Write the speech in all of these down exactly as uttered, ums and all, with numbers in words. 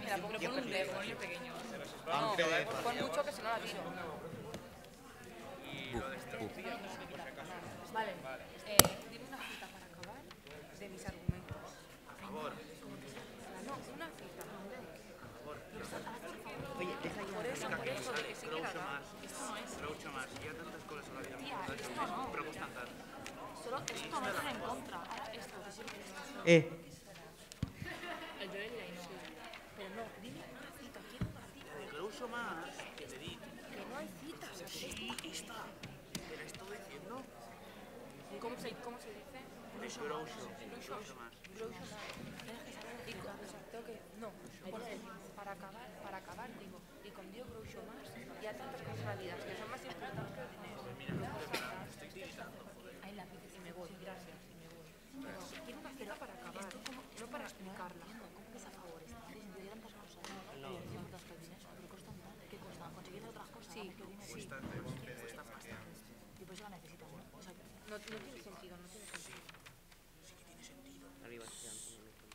me la pongo con un demonio pequeño. No, pon mucho que si no la tiro. Vale, eh, dime una cita para acabar de mis argumentos. Por favor. No, una cita. Oye, deja ya. Por eso, por eso, de que sí que la Groucho da. Marx. Esto no es. Groucho Marx. Hi ha tantes coses a la vida. Tía, esto no. Però costen tant. Solo esto no está en contra. Ahora esto, que sí que está. Eh, El Joel y la Inés. Pero no, dime una cita, quiero una cita. De Groucho Marx, que le di. Que no hay citas. Sí, esta. Te la estoy diciendo. ¿Cómo se, cómo se dice? Groucho. Groucho Marx. Groucho Marx. Tienes que saber. Y con, o sea, tengo que. No, porque para acabar, para acabar, digo. Y con Dios Groucho Marx, ya tantas cosas en la vida que son más importantes que el dinero. Estoy tiritando. Ahí la pides y me voy, gracias, y me voy. Pero quiero una cita para acabar, no para explicarla. ¿Cómo que a favores? Si se tantas cosas, no necesitan tantos dinero, pero costan tanto. ¿Qué cuesta? Conseguir otras cosas. Sí, ¿Qué dinero? sí. Cuesta más. Y por eso la necesitan, ¿no? O sea, No, no tiene sentido, no tiene sentido. Sí que tiene sentido. arriba, ya, un momento.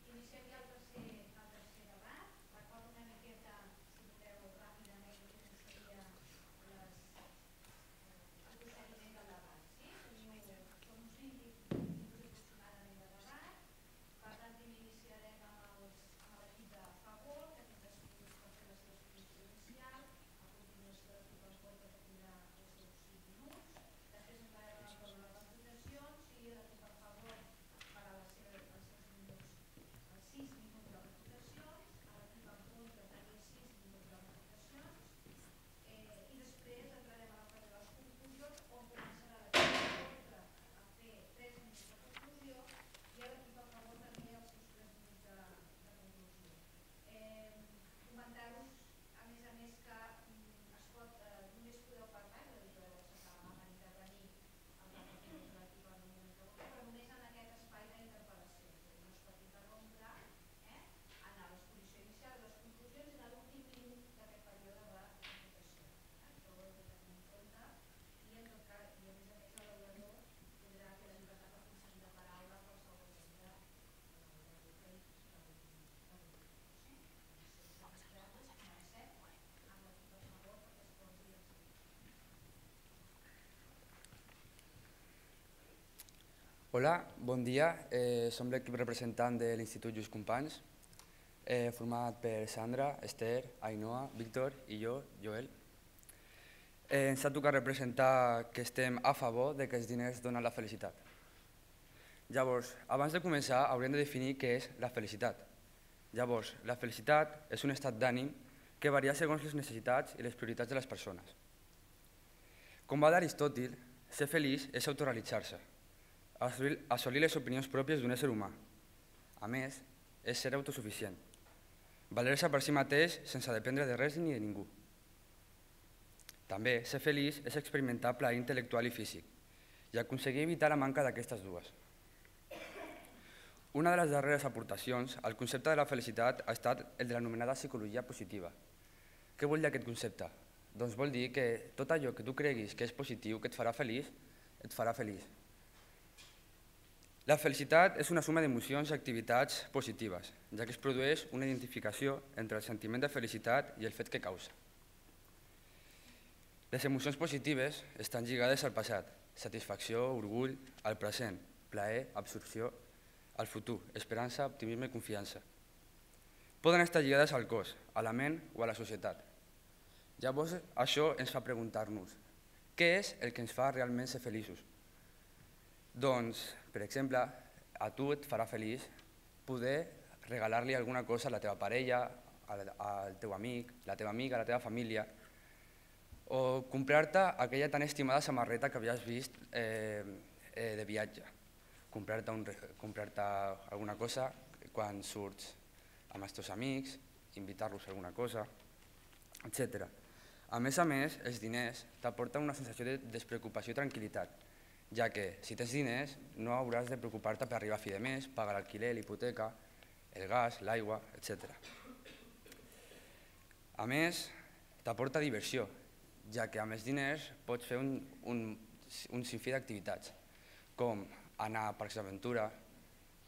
Iniciaria el tercer, el tercer debat. Recordo una miqueta, si voleu, ràpidament el que seria les, el procediment del debat. Sí? Teniu, són uns vint minuts aproximadament de debat. Per tant, primer iniciarem amb els- amb l'equip de favor, que tindrà cinc minuts per fer la seva exposició inicial. A continuació, l'equip en contra que tindrà els seus cinc minuts. Després entrarem en el torn de les votacions i l'equip a favor farà la seva, els seus minuts, els sis minuts de votacions, a l'equip en contra també sis minuts de votacions, eh, i després entrarem a la fase de les conclusions, on començarà l'equip en contra a fer tres minuts de conclusió i a l'equip a favor també els seus tres minuts de, de conclusió. Eh, Comentar-vos, a més a més, que mm, es pot, eh, només podeu parlar, és a dir, podeu acceptar la mà per intervenir el representatiu de l'equip en un moment que vulgui, però només en aquest espai d'interpel·lació. No es pot interrompre eh, en l'exposició inicial de les conclusions i en l'últim minut d'aquest període de votació. Eh? Això ho heu de tenir en compte i, en tot cas, i a més a més l'avaluador tindrà que la llibertat de concedir la paraula a qualsevol membre del grup que hi serà l'últim. Hola, bon dia. Eh, som l'equip representant de l'Institut Lluís Companys, eh, format per Sandra, Esther, Ainhoa, Víctor i jo, Joel. Eh, ens ha tocat representar que estem a favor de que els diners donen la felicitat. Llavors, abans de començar, hauríem de definir què és la felicitat. Llavors, la felicitat és un estat d'ànim que varia segons les necessitats i les prioritats de les persones. Com va d'Aristòtil, ser feliç és autorrealitzar-se, assolir les opinions pròpies d'un ésser humà. A més, és ser autosuficient, valer-se per si mateix sense dependre de res ni de ningú. També, ser feliç és experimentar plaer intel·lectual i físic i aconseguir evitar la manca d'aquestes dues. Una de les darreres aportacions al concepte de la felicitat ha estat el de l'anomenada psicologia positiva. Què vol dir aquest concepte? Doncs vol dir que tot allò que tu creguis que és positiu, que et farà feliç, et farà feliç. La felicitat és una suma d'emocions i activitats positives, ja que es produeix una identificació entre el sentiment de felicitat i el fet que causa. Les emocions positives estan lligades al passat, satisfacció, orgull, al present, plaer, absorció, al futur, esperança, optimisme i confiança. Poden estar lligades al cos, a la ment o a la societat. Llavors, això ens fa preguntar-nos, què és el que ens fa realment ser feliços? Doncs, per exemple, a tu et farà feliç poder regalar-li alguna cosa a la teva parella, al teu amic, la teva amiga, a la teva família, o comprar-te aquella tan estimada samarreta que havies vist de viatge, comprar-te un, comprar-te alguna cosa quan surts amb els teus amics, invitar-los a alguna cosa, etcètera. A més a més, els diners t'aporten una sensació de despreocupació i tranquil·litat, ja que si tens diners no hauràs de preocupar-te per arribar a fi de mes, pagar l'alquiler, l'hipoteca, el gas, l'aigua, etcètera. A més, t'aporta diversió, ja que amb els diners pots fer un, un, un sinfí d'activitats, com anar a parcs d'aventura,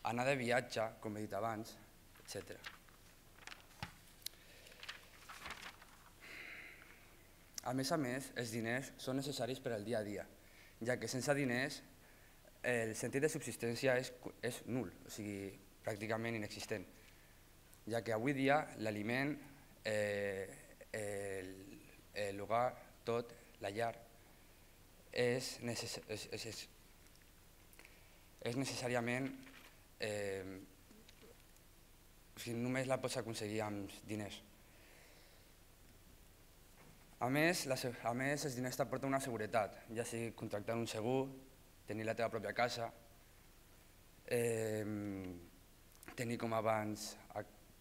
anar de viatge, com he dit abans, etcètera. A més a més, els diners són necessaris per al dia a dia, ja que sense diners el sentit de subsistència és, és nul, o sigui, pràcticament inexistent, ja que avui dia l'aliment, eh, l'hogar, tot, la llar, és, necess és, és, és, és necessàriament, eh, o sigui, només la pots aconseguir amb diners. A més, la, a més, els diners t'aporten una seguretat, ja sigui contractar un segur, tenir la teva pròpia casa, eh, tenir, com abans,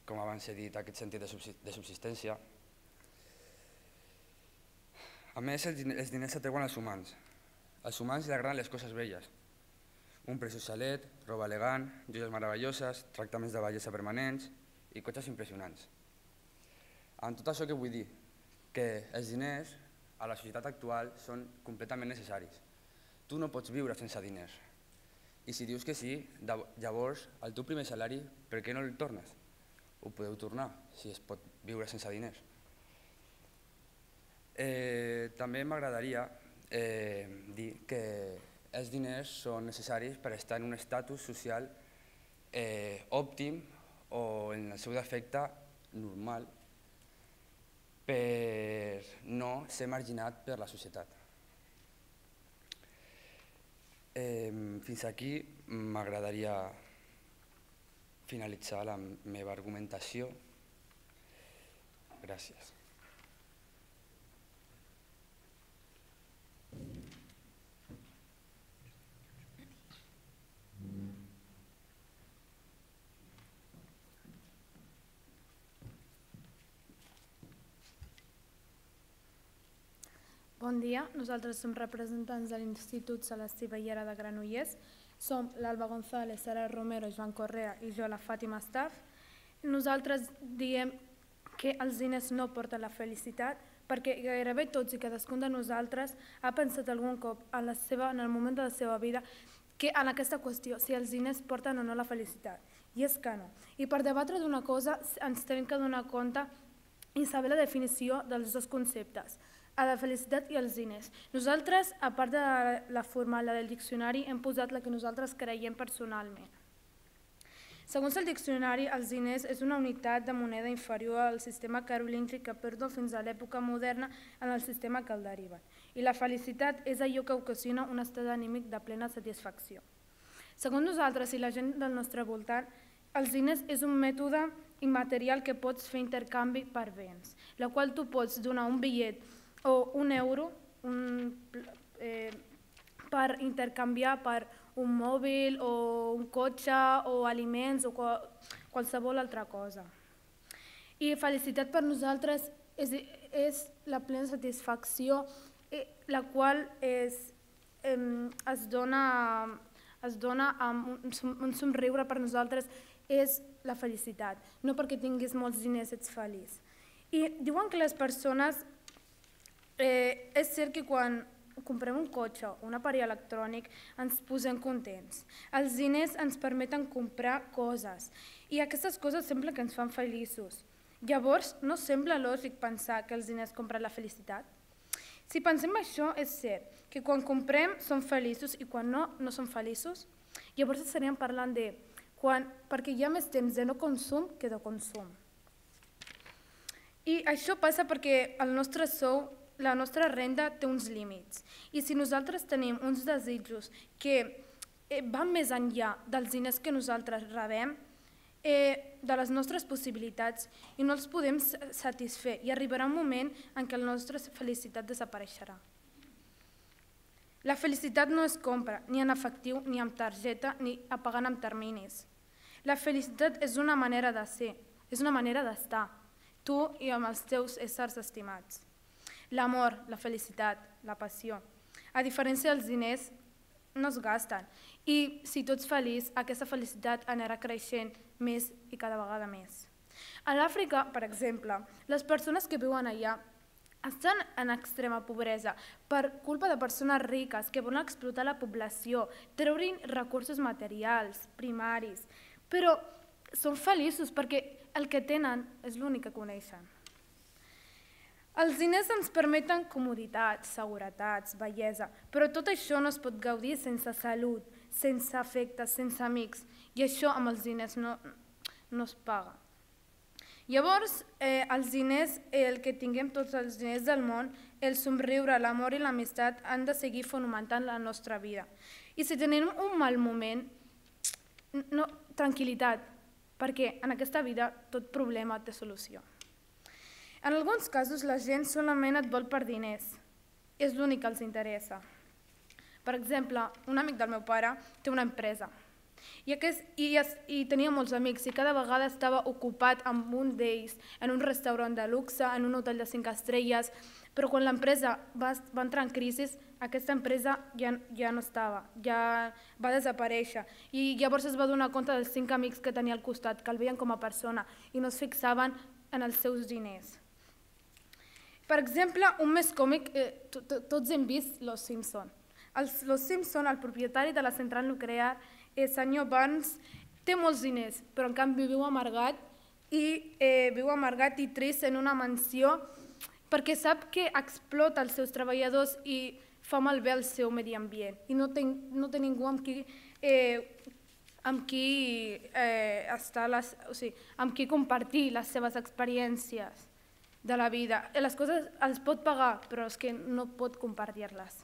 com abans he dit, aquest sentit de subsistència. A més, els diners s'atreuen als humans. Als humans li agraden les coses velles. Un preciós xalet, roba elegant, joies meravelloses, tractaments de bellesa permanents i cotxes impressionants. Amb tot això què vull dir? Que els diners a la societat actual són completament necessaris. Tu no pots viure sense diners. I si dius que sí, llavors el teu primer salari, per què no el tornes? Ho podeu tornar si es pot viure sense diners. Eh, també m'agradaria eh, dir que els diners són necessaris per estar en un estatus social eh, òptim o en el seu defecte normal, per no ser marginat per la societat. Eh, fins aquí m'agradaria finalitzar la meva argumentació. Gràcies. Bon dia, nosaltres som representants de l'Institut Celestí Bellera de Granollers. Som l'Alba González, Sara Romero, Joan Correa i jo, la Fàtima Staff. Nosaltres diem que els diners no porten la felicitat perquè gairebé tots i cadascun de nosaltres ha pensat algun cop en, la seva, en el moment de la seva vida que en aquesta qüestió, si els diners porten o no la felicitat. I és que no. I per debatre d'una cosa ens tenim que donar compte i saber la definició dels dos conceptes, a la felicitat i els diners. Nosaltres, a part de la formal, la del diccionari, hem posat la que nosaltres creiem personalment. Segons el diccionari, els diners és una unitat de moneda inferior al sistema carolíngic que perdó fins a l'època moderna en el sistema que el deriva. I la felicitat és allò que ocasiona un estat anímic de plena satisfacció. Segons nosaltres i la gent del nostre voltant, els diners és un mètode immaterial que pots fer intercanvi per béns, la qual tu pots donar un bitllet o un euro un, eh, per intercanviar per un mòbil o un cotxe o aliments o qual, qualsevol altra cosa. I felicitat per nosaltres és, és la plena satisfacció, eh, la qual és, eh, es dona, es dona amb un, un somriure per nosaltres és la felicitat, no perquè tinguis molts diners ets feliç. I diuen que les persones Eh, és cert que quan comprem un cotxe o un aparell electrònic ens posem contents. Els diners ens permeten comprar coses i aquestes coses sembla que ens fan feliços. Llavors, no sembla lògic pensar que els diners compren la felicitat? Si pensem això, és cert que quan comprem som feliços i quan no, no som feliços. Llavors estaríem parlant de quan, perquè hi ha més temps de no consum que de consum. I això passa perquè el nostre sou, la nostra renda té uns límits i si nosaltres tenim uns desitjos que van més enllà dels diners que nosaltres rebem, de les nostres possibilitats i no els podem satisfer i arribarà un moment en què la nostra felicitat desapareixerà. La felicitat no es compra ni en efectiu, ni amb targeta, ni pagant amb terminis. La felicitat és una manera de ser, és una manera d'estar, tu i amb els teus éssers estimats. L'amor, la felicitat, la passió. A diferència dels diners, no es gasten. I si tu ets feliç, aquesta felicitat anirà creixent més i cada vegada més. A l'Àfrica, per exemple, les persones que viuen allà estan en extrema pobresa per culpa de persones riques que volen explotar la població, treure recursos materials, primaris, però són feliços perquè el que tenen és l'únic que coneixen. Els diners ens permeten comoditats, seguretats, bellesa, però tot això no es pot gaudir sense salut, sense afectes, sense amics, i això amb els diners no, no es paga. Llavors, eh, els diners, el que tinguem tots els diners del món, el somriure, l'amor i l'amistat han de seguir fomentant la nostra vida. I si tenim un mal moment, no, tranquil·litat, perquè en aquesta vida tot problema té solució. En alguns casos la gent solament et vol per diners, és l'únic que els interessa. Per exemple, un amic del meu pare té una empresa, I, aquest, i, i tenia molts amics i cada vegada estava ocupat amb un d'ells en un restaurant de luxe, en un hotel de cinc estrelles, però quan l'empresa va, va entrar en crisi, aquesta empresa ja, ja no estava, ja va desaparèixer i llavors es va donar compte dels cinc amics que tenia al costat, que el veien com a persona i no es fixaven en els seus diners. Per exemple, un més còmic, eh, to, to, tots hem vist Los Simpson. Els, Los Simpson, el propietari de la central nuclear, el senyor Burns, té molts diners, però en canvi viu amargat i eh, viu amargat i trist en una mansió perquè sap que explota els seus treballadors i fa malbé el seu medi ambient i no té, no té ningú amb qui, eh, amb qui, eh, estar les, o sigui, amb qui compartir les seves experiències de la vida. Les coses els pot pagar, però és que no pot compartir-les.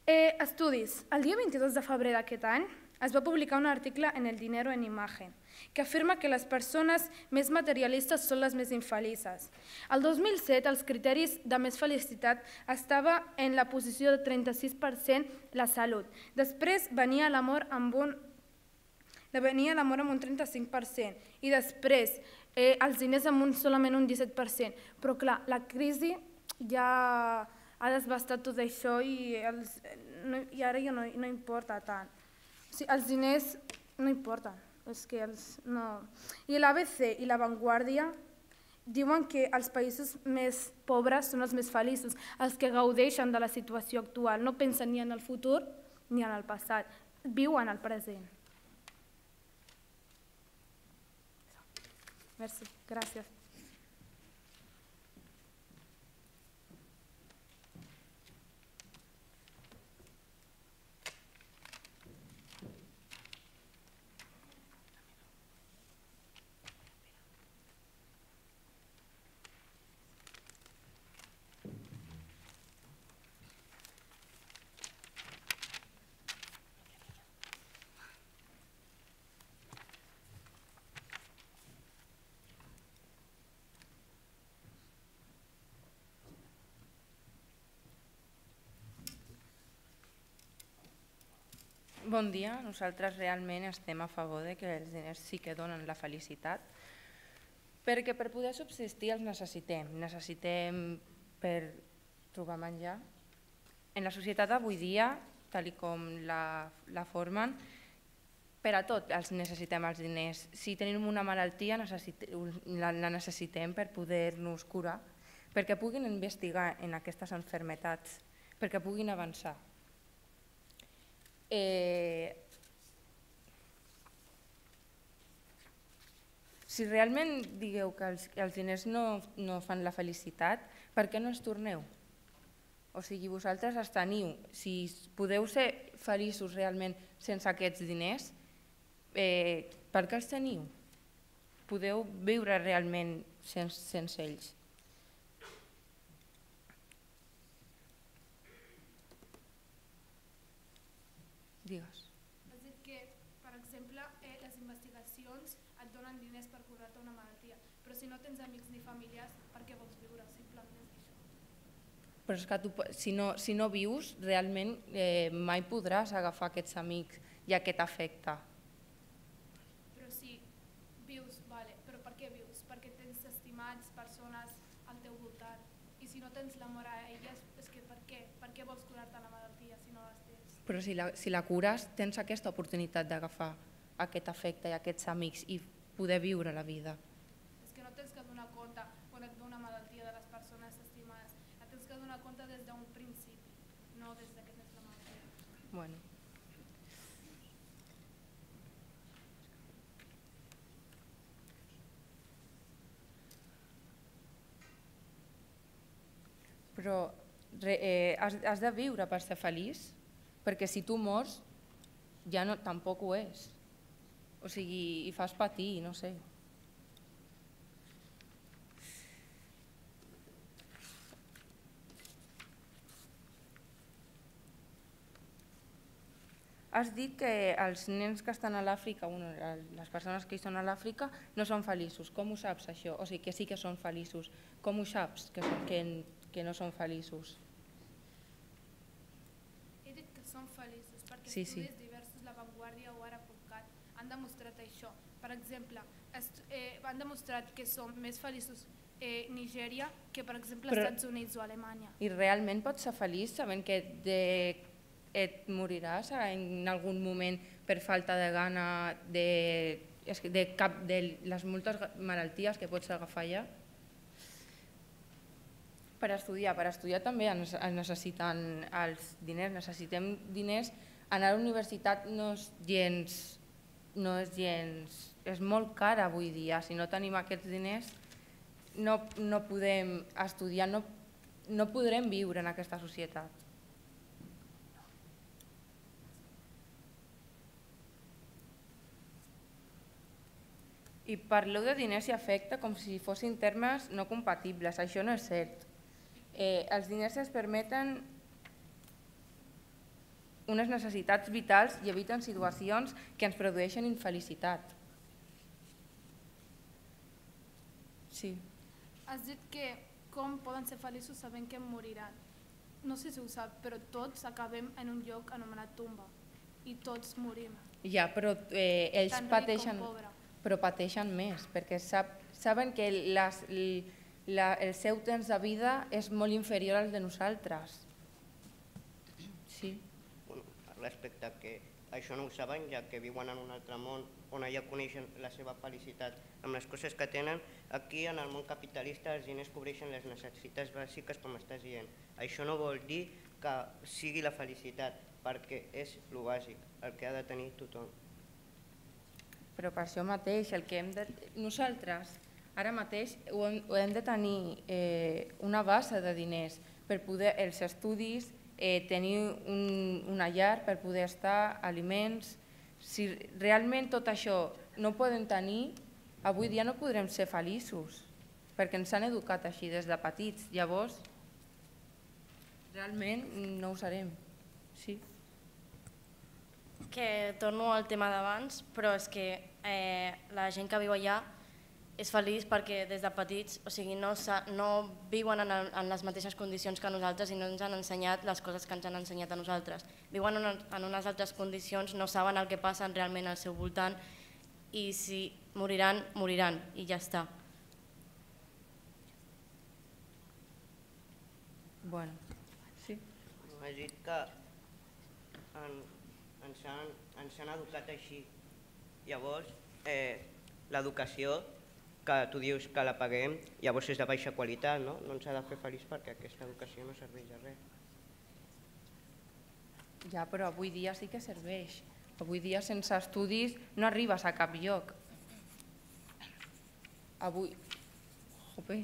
Eh, estudis. El dia vint-i-dos de febrer d'aquest any es va publicar un article en El Dinero en Imagen que afirma que les persones més materialistes són les més infelices. El dos mil set, els criteris de més felicitat estava en la posició de trenta-sis per cent la salut. Després venia l'amor amb un venia l'amor amb un trenta-cinc per cent i després eh, els diners amb un, solament un disset per cent. Però clar, la crisi ja ha desbastat tot això i, els, no, i ara ja no, no importa tant. O sigui, els diners no importen. És que els, no. I l'A B C i La Vanguardia diuen que els països més pobres són els més feliços, els que gaudeixen de la situació actual, no pensen ni en el futur ni en el passat, viuen el present. Merci, gràcies. Bon dia, nosaltres realment estem a favor de que els diners sí que donen la felicitat, perquè per poder subsistir els necessitem, necessitem per trobar menjar. En la societat d'avui dia, tal com la, la formen, per a tot els necessitem els diners. Si tenim una malaltia la, la necessitem per poder-nos curar, perquè puguin investigar en aquestes malalties, perquè puguin avançar. Eh, si realment digueu que els, els diners no, no fan la felicitat, per què no els torneu? O sigui, vosaltres els teniu. Si podeu ser feliços realment sense aquests diners, eh, per què els teniu? Podeu viure realment sense, sense ells. Digues. Has dit que, per exemple, eh, les investigacions et donen diners per curar-te una malaltia, però si no tens amics ni familiars, per què vols viure? Simplement és això. Però és que tu, si, no, si no vius, realment eh, mai podràs agafar aquests amics i aquest afecte. Però si vius, vale, però per què vius? Perquè tens estimats, persones al teu voltant. I si no tens l'amor a elles, és que per què? Per què vols curar-te la malaltia si no les tens? Però si la, si la cures, tens aquesta oportunitat d'agafar aquest afecte i aquests amics i poder viure la vida. És que no tens que donar compte quan et ve una malaltia de les persones estimades. Et tens que donar compte des d'un principi, no des que tens la malaltia. Bueno. Però re, eh, has, has de viure per ser feliç, perquè si tu mors ja no, tampoc ho és. O sigui, i fas patir, no sé. Has dit que els nens que estan a l'Àfrica, bueno, les persones que hi són a l'Àfrica, no són feliços. Com ho saps, això? O sigui, que sí que són feliços. Com ho saps, que, que, que no són feliços? He dit que són feliços perquè Sí, sí. estudis diversos, La Vanguardia o Ara punt cat han demostrat això. Per exemple, eh, han demostrat que són més feliços eh, Nigèria que, per exemple, Però- Estats Units o Alemanya. I realment pots ser feliç sabent que de, et moriràs en algun moment per falta de gana de, és que de, cap, de les moltes malalties que pots agafar allà? Per estudiar, per estudiar també es necessiten els diners, necessitem diners. Anar a la universitat no és gens, no és gens, és molt car avui dia. Si no tenim aquests diners no, no podem estudiar, no, no podrem viure en aquesta societat. I parleu de diners i afecte com si fossin termes no compatibles. Això no és cert. Eh, els diners ens permeten unes necessitats vitals i eviten situacions que ens produeixen infelicitat. Sí. Has dit que com poden ser feliços sabent que moriran. No sé si ho sap, però tots acabem en un lloc anomenat tomba i tots morim, Ja, però eh, ells tant ric pateixen, com pobre. però pateixen més, perquè sap, saben que les, la, el seu temps de vida és molt inferior al de nosaltres. Sí. Bueno, respecte a que això no ho saben, ja que viuen en un altre món on allà coneixen la seva felicitat amb les coses que tenen, aquí en el món capitalista els diners cobreixen les necessitats bàsiques, com estàs dient. Això no vol dir que sigui la felicitat, perquè és el bàsic, el que ha de tenir tothom. Però per això mateix, el que hem de... nosaltres ara mateix ho hem, ho hem de tenir eh, una base de diners per poder els estudis, eh, tenir un, una llar per poder estar, aliments. Si realment tot això no ho podem tenir, avui dia no podrem ser feliços, perquè ens han educat així des de petits. Llavors, realment no ho serem. Sí. Que torno al tema d'abans, però és que eh, la gent que viu allà és feliç perquè des de petits, o sigui, no, no viuen en, el, en les mateixes condicions que nosaltres i no ens han ensenyat les coses que ens han ensenyat a nosaltres. Viuen en, en unes altres condicions, no saben el que passa realment al seu voltant i si moriran, moriran i ja està. Bueno, sí. Has dit que en, ens, han, ens han educat així. Llavors, eh, l'educació, que tu dius que la paguem, llavors és de baixa qualitat, no? No ens ha de fer feliç perquè aquesta educació no serveix de res. Ja, però avui dia sí que serveix. Avui dia sense estudis no arribes a cap lloc. Avui... Jope.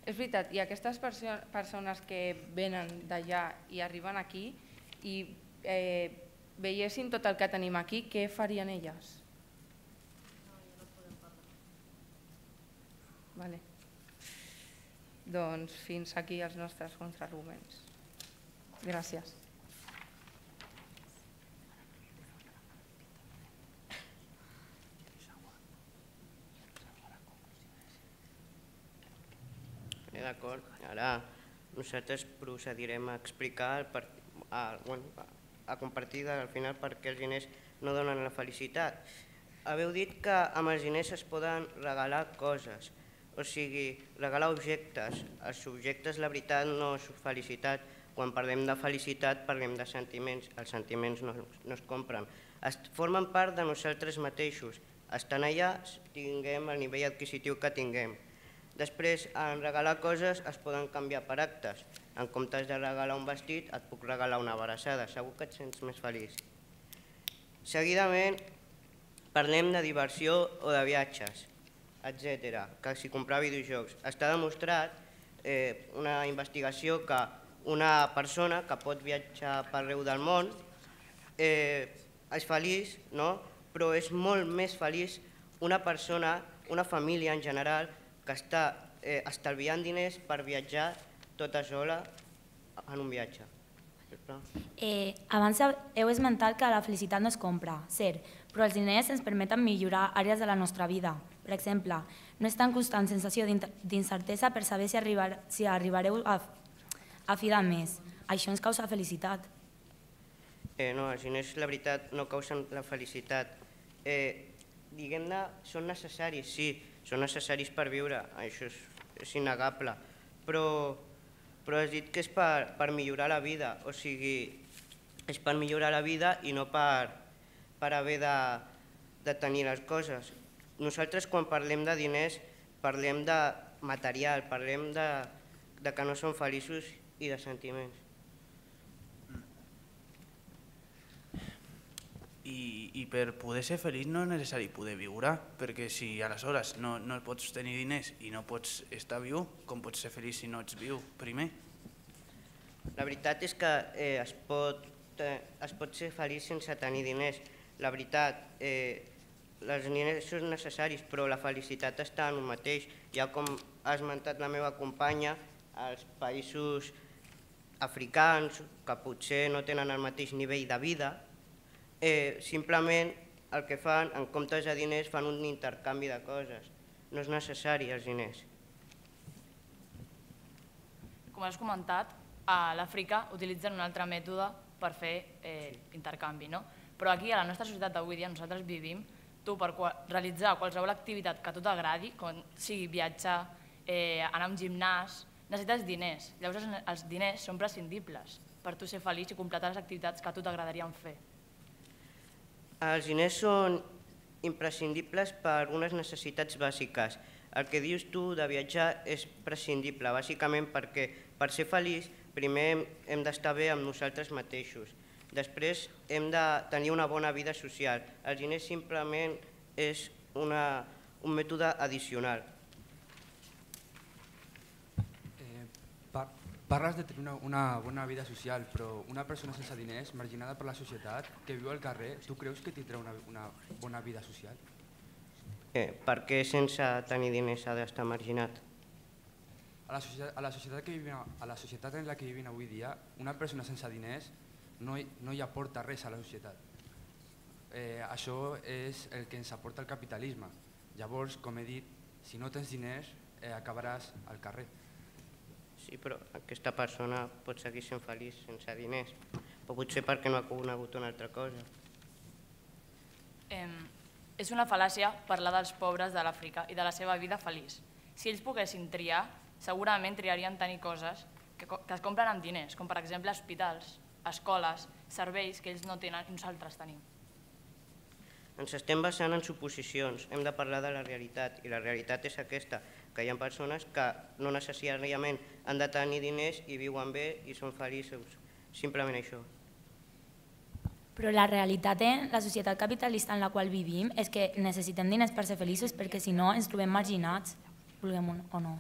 És veritat, i aquestes perso persones que venen d'allà i arriben aquí i eh, veiessin tot el que tenim aquí, què farien elles? Vale. Doncs fins aquí els nostres contraarguments. Gràcies. D'acord, ara nosaltres procedirem a explicar, per, a, bueno, a compartir al final per què els diners no donen la felicitat. Haveu dit que amb els diners es poden regalar coses, o sigui, regalar objectes. Els objectes, la veritat, no és felicitat. Quan parlem de felicitat parlem de sentiments. Els sentiments no, no es compren. Es formen part de nosaltres mateixos. Estan allà, tinguem el nivell adquisitiu que tinguem. Després, en regalar coses es poden canviar per actes. En comptes de regalar un vestit, et puc regalar una abraçada. Segur que et sents més feliç. Seguidament, parlem de diversió o de viatges, etcètera. Que si comprar videojocs. Està demostrat eh, una investigació que una persona que pot viatjar per arreu del món eh, és feliç, no? Però és molt més feliç una persona, una família en general, que està eh, estalviant diners per viatjar tota sola en un viatge. Eh, abans heu esmentat que la felicitat no es compra, cert, però els diners ens permeten millorar àrees de la nostra vida. Per exemple, no és tan constant sensació d'incertesa per saber si, arribar, si arribareu a, a fi de mes. Això ens causa felicitat. Eh, no, els diners, la veritat, no causen la felicitat. Eh, Diguem-ne, són necessaris, sí, són necessaris per viure, això és, és innegable, però, però has dit que és per, per millorar la vida, o sigui, és per millorar la vida i no per, per haver de, de tenir les coses. Nosaltres quan parlem de diners parlem de material, parlem de, de que no som feliços i de sentiments. I, i per poder ser feliç no és necessari poder viure, perquè si aleshores no, no pots tenir diners i no pots estar viu, com pots ser feliç si no ets viu primer? La veritat és que eh, es, pot, eh, es pot ser feliç sense tenir diners. La veritat, eh, els diners són necessaris, però la felicitat està en un mateix. Ja com ha esmentat la meva companya, els països africans, que potser no tenen el mateix nivell de vida, Eh, simplement el que fan, en comptes de diners, fan un intercanvi de coses. No és necessari els diners. Com has comentat, a l'Àfrica utilitzen un altre mètode per fer eh, intercanvi, no? Però aquí, a la nostra societat d'avui dia, nosaltres vivim, tu per realitzar qualsevol activitat que a tu t'agradi, com sigui viatjar, eh, anar a un gimnàs, necessites diners. Llavors els diners són prescindibles per tu ser feliç i completar les activitats que a tu t'agradarien fer. Els diners són imprescindibles per unes necessitats bàsiques. El que dius tu de viatjar és prescindible, bàsicament perquè per ser feliç primer hem d'estar bé amb nosaltres mateixos. Després hem de tenir una bona vida social. Els diners simplement és una, un mètode addicional. Parles de tenir una, una bona vida social, però una persona sense diners, marginada per la societat, que viu al carrer, tu creus que tindrà una, una bona vida social? Eh, per què sense tenir diners ha d'estar marginat? A la, societat, a, la societat que vivim, a la societat en la que vivim avui dia, una persona sense diners no hi, no hi aporta res a la societat. Eh, això és el que ens aporta el capitalisme. Llavors, com he dit, si no tens diners, eh, acabaràs al carrer. Sí, però aquesta persona pot seguir sent feliç sense diners, però potser perquè no ha conegut una altra cosa. Eh, és una fal·làcia parlar dels pobres de l'Àfrica i de la seva vida feliç. Si ells poguessin triar, segurament triarien tenir coses que, que es compren amb diners, com per exemple hospitals, escoles, serveis que ells no tenen i nosaltres tenim. Ens estem basant en suposicions, hem de parlar de la realitat, i la realitat és aquesta, que hi ha persones que no necessàriament han de tenir diners i viuen bé i són feliços, simplement això. Però la realitat en la societat capitalista en la qual vivim és que necessitem diners per ser feliços perquè si no ens trobem marginats, vulguem o no.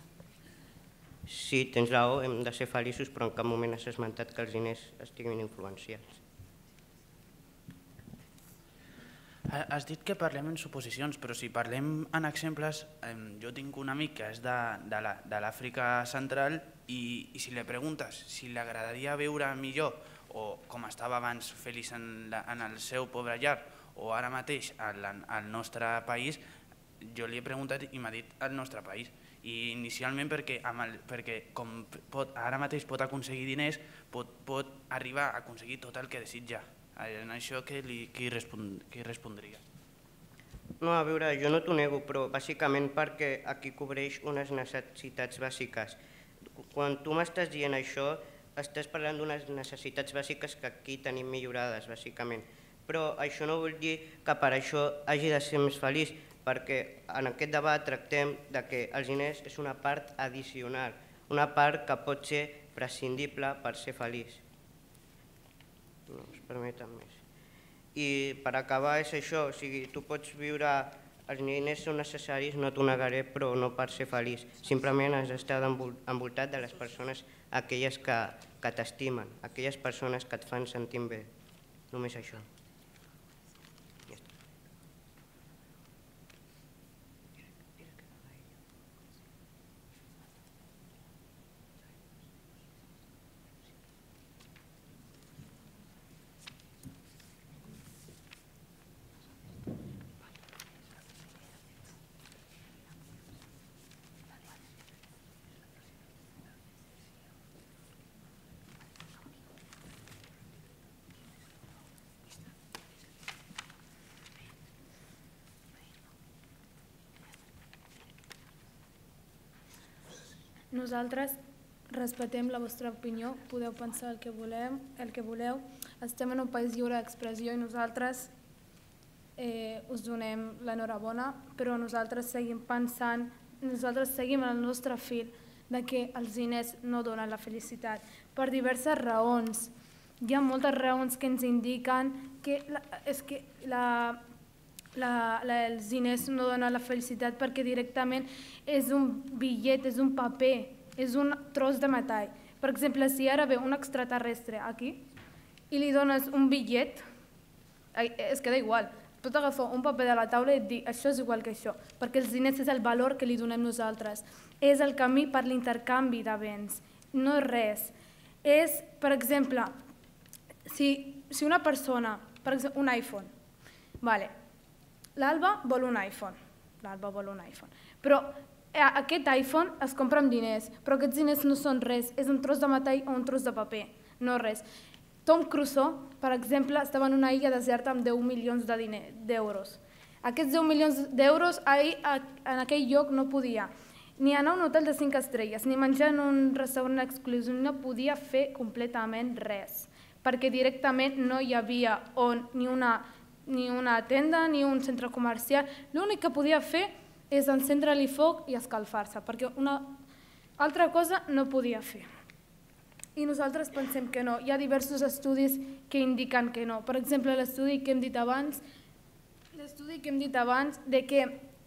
Sí, tens raó, hem de ser feliços, però en cap moment has esmentat que els diners estiguin influenciats. Has dit que parlem en suposicions, però si parlem en exemples, jo tinc un amic que és de l'Àfrica central i, i si li preguntes si li agradaria viure millor o com estava abans feliç en, la, en el seu pobre llar o ara mateix al, al nostre país, jo li he preguntat i m'ha dit el nostre país. I inicialment perquè, amb el, perquè com pot, ara mateix pot aconseguir diners, pot, pot arribar a aconseguir tot el que desitja. En això qui, li, qui, respon, qui respondria? No, a veure, jo no t'ho nego, però bàsicament perquè aquí cobreix unes necessitats bàsiques. Quan tu m'estàs dient això, estàs parlant d'unes necessitats bàsiques que aquí tenim millorades, bàsicament. Però això no vol dir que per això hagi de ser més feliç, perquè en aquest debat tractem que els diners és una part addicional, una part que pot ser prescindible per ser feliç. No es permeten més. I per acabar és això, o sigui, tu pots viure, els diners són necessaris, no t'ho negaré, però no per ser feliç. Simplement has d'estar envoltat de les persones aquelles que, que t'estimen, aquelles persones que et fan sentir bé. Només això. Nosaltres respectem la vostra opinió, podeu pensar el que voleu, el que voleu. Estem en un país lliure d'expressió i nosaltres eh, us donem l'enhorabona, però nosaltres seguim pensant, nosaltres seguim el nostre fil de que els diners no donen la felicitat per diverses raons. Hi ha moltes raons que ens indiquen que, la, és que la, la, la, els diners no donen la felicitat perquè directament és un bitllet, és un paper, és un tros de metall. Per exemple, si ara ve un extraterrestre aquí i li dones un bitllet, es queda igual. Pot agafar un paper de la taula i dir això és igual que això, perquè els diners és el valor que li donem nosaltres. És el camí per l'intercanvi de béns, no és res. És, per exemple, si, si una persona, per exemple, un iPhone, vale, l'Alba vol un iPhone, l'Alba vol un iPhone, però aquest iPhone es compra amb diners, però aquests diners no són res, és un tros de metall o un tros de paper, no res. Tom Crusoe, per exemple, estava en una illa deserta amb deu milions d'euros. Aquests deu milions d'euros en aquell lloc no podia ni anar a un hotel de cinc estrelles, ni menjar en un restaurant exclusiu, no podia fer completament res, perquè directament no hi havia on ni una, ni una tenda ni un centre comercial. L'únic que podia fer és encendre-li foc i escalfar-se, perquè una altra cosa no podia fer. I nosaltres pensem que no. Hi ha diversos estudis que indiquen que no. Per exemple, l'estudi que hem dit abans, l'estudi que hem dit abans de que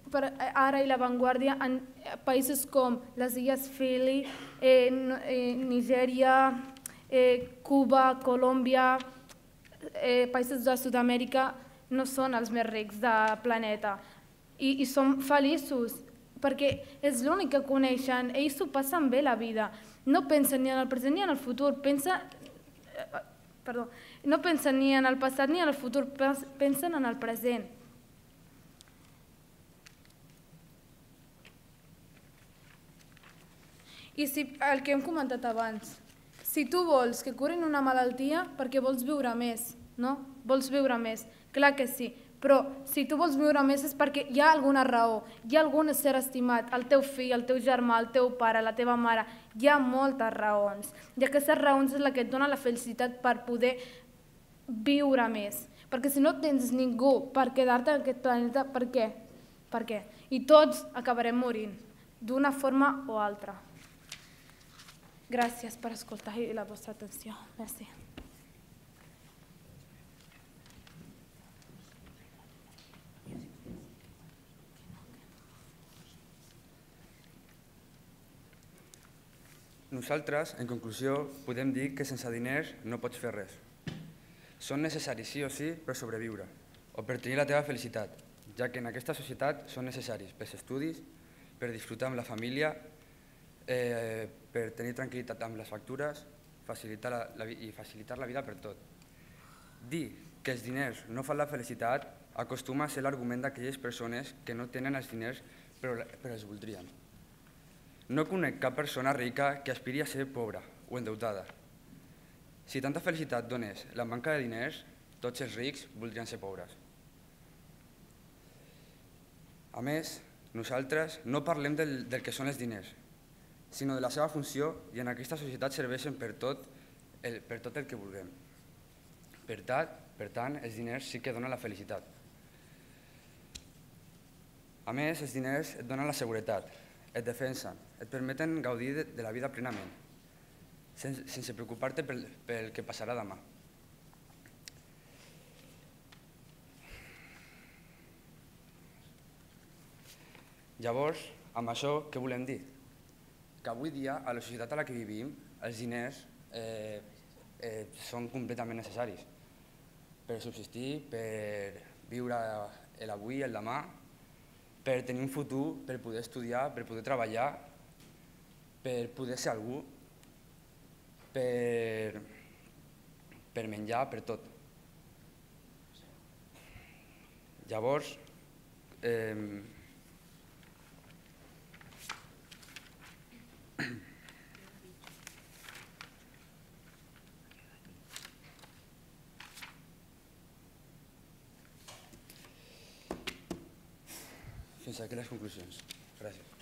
per ara i La Vanguardia en països com les illes Fiji, eh, eh, Nigèria, eh, Cuba, Colòmbia, eh, països de Sud-amèrica no són els més rics del planeta. I, i som feliços, perquè és l'únic que coneixen, ells s'ho passen bé la vida, no pensen ni en el present ni en el futur, pensen, eh, perdó, no pensen ni en el passat ni en el futur, pensen en el present. I si, el que hem comentat abans, si tu vols que curin una malaltia perquè vols viure més, no? Vols viure més, clar que sí. Però si tu vols viure més és perquè hi ha alguna raó, hi ha algun ésser estimat, el teu fill, el teu germà, el teu pare, la teva mare, hi ha moltes raons. I aquestes raons és la que et dona la felicitat per poder viure més. Perquè si no tens ningú per quedar-te en aquest planeta, per què? Per què? I tots acabarem morint, d'una forma o altra. Gràcies per escoltar i la vostra atenció. Merci. Nosaltres, en conclusió, podem dir que sense diners no pots fer res. Són necessaris sí o sí per sobreviure o per tenir la teva felicitat, ja que en aquesta societat són necessaris pels estudis, per disfrutar amb la família, eh, per tenir tranquil·litat amb les factures facilitar la, la, i facilitar la vida per tot. Dir que els diners no fan la felicitat acostuma a ser l'argument d'aquelles persones que no tenen els diners però, però els voldrien. No conec cap persona rica que aspiri a ser pobra o endeutada. Si tanta felicitat donés la manca de diners, tots els rics voldrien ser pobres. A més, nosaltres no parlem del, del que són els diners, sinó de la seva funció, i en aquesta societat serveixen per tot el, per tot el que vulguem. Per tant, per tant, els diners sí que donen la felicitat. A més, els diners et donen la seguretat, et defensen, et permeten gaudir de, de la vida plenament, sense, sense preocupar-te pel, pel que passarà demà. Llavors, amb això, què volem dir? Que avui dia, a la societat a la que vivim, els diners eh, eh, són completament necessaris per subsistir, per viure l'avui i el demà, per tenir un futur, per poder estudiar, per poder treballar, per poder ser algú, per, per menjar, per tot. Llavors, eh, fins aquí les conclusions. Gràcies.